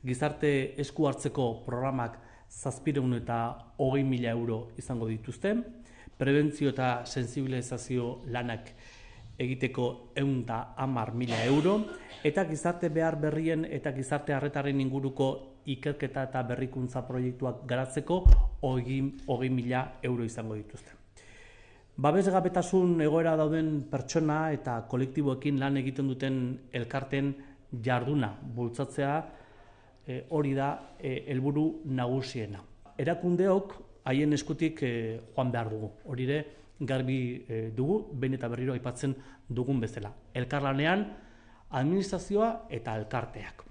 Gizarte esku hartzeko programak 720.000 euro izango dituzte, prebentzio eta sensibilizazio lanak egiteko 110.000 euro, eta gizarte behar berrien eta gizarte arretaren inguruko ikerketa eta berrikuntza proiektuak garatzeko 20.000 euro izango dituzte. Babesgabetasun egoera dauden pertsona eta kolektiboekin lan egiten duten elkarten jarduna bultzatzea hori da helburu nagusiena. Erakundeok haien eskutik joan behar dugu. Hori ere garbi dugu, behin eta berriro aipatzen dugun bezala. Elkarlanean, administrazioa eta elkarteak.